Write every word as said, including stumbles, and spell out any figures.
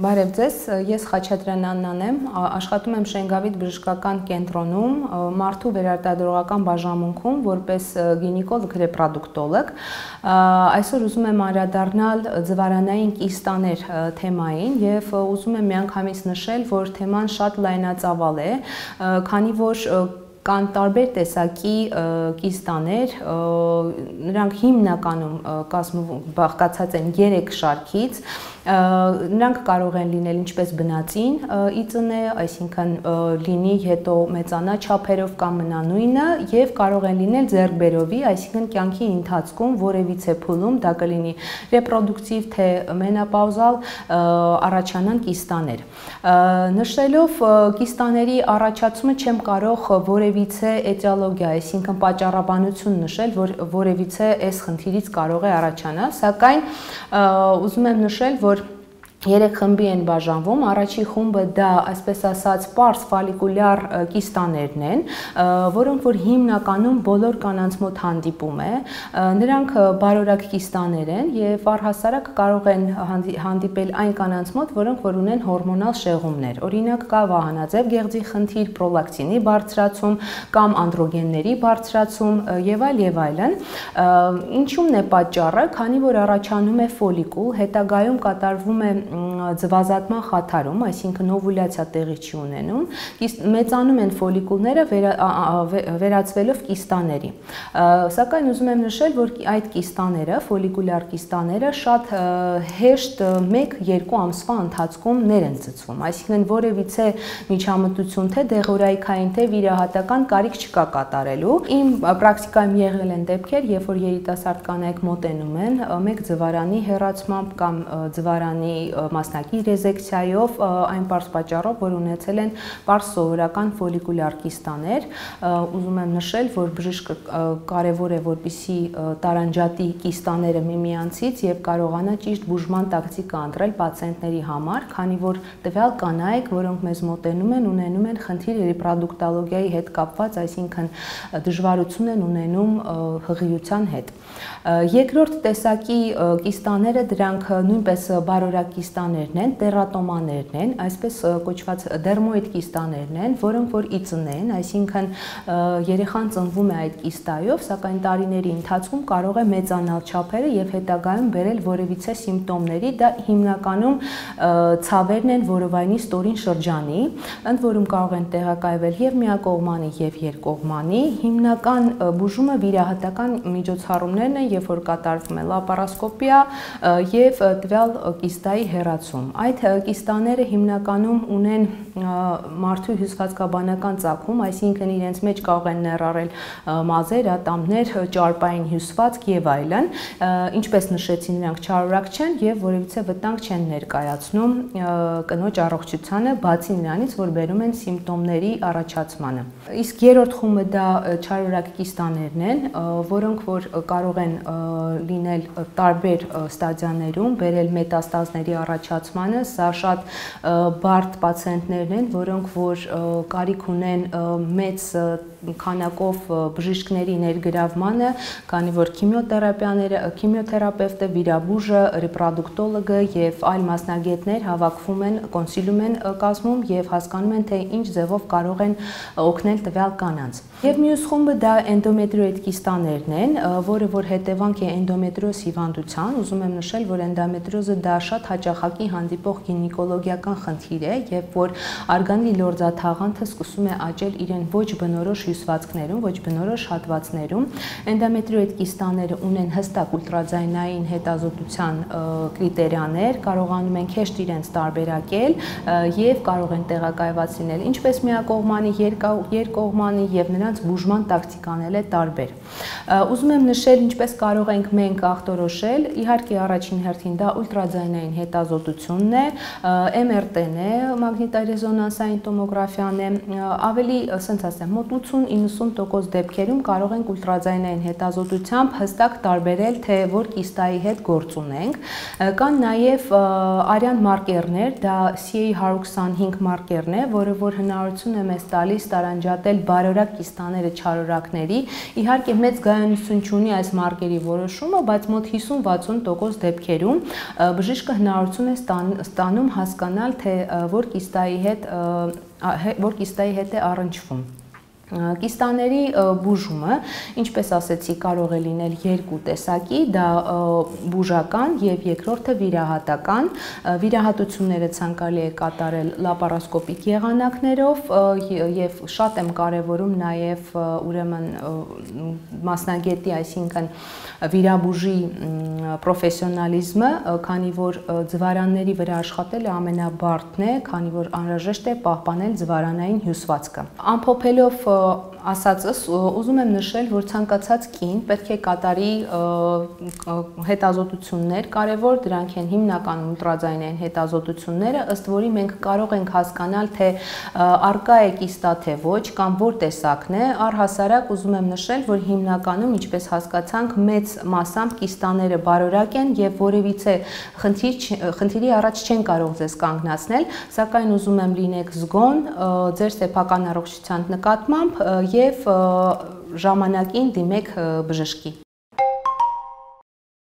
Բարև ձեզ, ես Խաչատրյան Աննան եմ, աշխատում եմ Շենգավիթ բժշկական կենտրոնում, մարդու վերարտադրողական բաժանմունքում որպես գինեկոլոգ ռեպրոդուկտոլոգ։ Այսօր ուզում եմ անդրադառնալ ձվարանային կիստաներ թեմային եւ ուզում եմ միանգամից նշել, որ թեման շատ լայնածավալ է, քանի որ կան տարբեր տեսակի կիստաներ, նրանք հիմնականում բաղկացած են երեք շարքից, նրանք կարող են լինել ինչպես բնածին իծն է, այսինքն լինի հետո մեծանա չափերով կամ մնա նույնը եւ կարող են լինել ձեռքբերովի, այսինքն կյանքի ընթացքում որևիցե փուլում դա կլինի ռեպրոդուկտիվ թե մենոպաուզալ առաջանան կիստաներ։ Նշելով կիստաների առաջացումը չեմ կարող որևիցե էտիոլոգիա, այսինքն պատճառաբանություն նշել, որ որևիցե այս խնդիրից կարող է առաջանալ, սակայն ուզում եմ նշել, որ երեք խմբի են բաժանվում, առաջի խումբը դա այսպես ասած պարզ ֆոլիկուլյար կիստաներն են, որոնք որ հիմնականում բոլոր կանանց մոտ հանդիպում է, նրանք բարորակ կիստաներ են եւ առհասարակ կարող են հանդիպել այն կանանց մոտ, որոնք որ ունեն հորմոնալ շեղումներ, օրինակ կա վահանաձև գեղձի խնդիր, պրոլակտինի բարձրացում կամ անդրոգենների բարձրացում եւ այլ եւ այլն։ Ինչու՞մն է պատճառը, քանի որ առաջանում է ֆոլիկուլ, հետագայում կատարվում է ձվազատման խաթարում, այսինքն օվուլյացիա տեղի չի ունենում, մեծանում են ֆոլիկուլները վերածվելով կիստաների։ Սակայն ուզում եմ նշել, որ այդ կիստաները, ֆոլիկուլյար կիստաները շատ հեշտ մեկ-երկու ամսվա ընթացքում ներ են ծծվում, այսինքն որևիցե միջամտություն թե դեղորայքային թե վիրահատական կարիք չկա կատարելու։ Իմ պրակտիկայում եղել են դեպքեր, երբ որ երիտասարդ կանայք մոտենում են մեկ ձվարանի հեռացմամբ կամ ձվարանի մասնակի ռեզեկցիայով այն պարզ պատճառով, որ ունեցել են պարզ սովորական ֆոլիկուլյար կիստաներ, ուզում եմ նշել, որ բժիշկը կարևոր է, որպեսզի տարանջատի կիստաները միմյանցից եւ կարողանա ճիշտ բուժման տակտիկա ընտրել պացիենտների համար, քանի որ տվյալ կանայք, որոնք մեզ մոտենում են, ունենում են խնդիր ռեպրոդուկտոլոգիայի հետ կապված, այսինքն դժվարություն են ունենում հղիության հետ։ Երկրորդ տեսակի կիստաները դրանք նույնպես բարորակ կիստաներն են, տերատոմաներն են, այսպես կոչված դերմոիդ կիստաներն են, որոնք որ իծն են, այսինքն երեխան ծնվում է այդ կիստայով, սակայն տարիների ընթացքում կարող է մեծանալ չափերը եւ հետագայում բերել որևիցե սիմպտոմների, դա հիմնականում ցավերն են որովայնի ստորին շրջանի, ընդ որում կարող են տեղակայվել եւ միակողմանի եւ երկկողմանի, հիմնական բուժումը վիրահատական միջոցառումներն են, երբ որ կատարվում է լապարասկոպիա եւ տվյալ կիստայի հեռացում։ Այդ կիստաները հիմնականում ունեն մարդու հյուսվածքաբանական ծագում, այսինքն իրենց մեջ կարող են ներառել մազեր, ատամներ, ճարպային հյուսվածք եւ այլն, ինչպես նշեցի, նրանք չարորակ չեն եւ որևիցե վտանգ չեն ներկայացնում կնոջ առողջությանը, բացի նրանից, որ բերում են սիմպտոմների առաջացմանը։ Իսկ երրորդ խումբը դա չարորակ կիստաներն են, որոնք որ կարող են լինել տարբեր ստադիաներում, բերել մետաստազների առաջացմանը, սա շատ բարդ պացիենտներն են, որոնք որ կարիք ունեն մեծ քանակով բժիշկների ներգրավմանը, քանի որ քիմիոթերապիաները, քիմիոթերապևտը, վիրաբույժը, ռեպրոդուկտոլոգը եւ այլ մասնագետներ հավաքվում են, կոնսիլիում են կազմում եւ հասկանում են, թե ինչ ձևով կարող են օգնել տվյալ կանանց։ Եվ մյուս խումբը դա էնդոմետրիոիդ կիստաներն են, որը որ հետևանք է էնդոմետրիոզ հիվանդության, ուզում եմ նշել, որ էնդոմետրիոզը դա շատ հաճախակի հանդիպող գինեկոլոգիական խնդիր է, երբ որ արգանդի լորձաթաղանթը սկսում է աճել իրեն ոչ բնորոշ հյուսվածքներում, ոչ բնորոշ հատվածներում։ Էնդոմետրիոիդ կիստաները ունեն հստակ ուլտրաձայնային հետազոտության կրիտերիաներ, կարողանում են հեշտ իրենց տարբերակել եւ կարող են տեղակայված լինել ինչպես միակողմանի, երկկողմանի եւ նրանց բուժման տակտիկաները տարբեր։ Ուզում եմ նշել, ինչպես կարող ենք մենք ախտորոշել, իհարկե առաջին հերթին դա ուլտրաձայնային հետազոտությունն է, էմ ար տեն է, մագնիտոռեզոնանսային տոմոգրաֆիան է, ավելի, ասենց ասեմ, մոտ ութուն-իննսուն տոկոս դեպքերում կարող ենք ուլտրաձայնային հետազոտությամբ հստակ տարբերել, թե որ կիստայի հետ գործ ունենք։ Կան նաև արյան մարկերներ, դա սի էյ հարյուր քսանհինգ մարկերն է, որը որ հնարավորություն է մեզ տալիս տարանջատել բարորակ կիստաները չարորակների, իհարկե մեծ գոյություն չունի այս մարկերի որոշումը, բայց մոտ հիսուն-վաթսուն տոկոս դեպքերում բժիշկը հնարավորություն է ստանում հասկանալ, թե որ կիստայի հետ որ կիստայի հետ է առնչվում։ Կիստաների բուժումը, ինչպես ասեցի, կարող է լինել երկու տեսակի, դա բուժական եւ երկրորդը վիրահատական։ Վիրահատությունները ցանկալի է կատարել լապարոսկոպիկ եղանակներով եւ շատ եմ կարեւորում նաեւ ուրեմն մասնագետի, այսինքն վիրաբուժի պրոֆեսիոնալիզմը, քանի որ ձվարանների վրա աշխատելը ամենաբարդն է, քանի որ անհրաժեշտ է պահպանել ձվարանային հյուսվածքը։ Ամփոփելով ասածս, ուզում եմ նշել, որ ցանկացած կին պետք է կատարի հետազոտություններ, կարևոր դրանք են հիմնականում ուլտրաձայնային հետազոտությունները, ըստ որի մենք կարող ենք հասկանալ, թե առկա է կիստա թե ոչ, կամ որ տեսակն է, առհասարակ ուզում եմ նշել, որ հիմնականում, ինչպես հասկացանք, մեծ մասամբ կիստաները բարորակ են եւ որևիցե խնդիրի առաջ չեն կարող ձեզ կանգնացնել, սակայն ուզում եմ լինեք զգոն ձեր սեփական առողջության նկատմամբ եւ ժամանակին դիմեք բժշկի։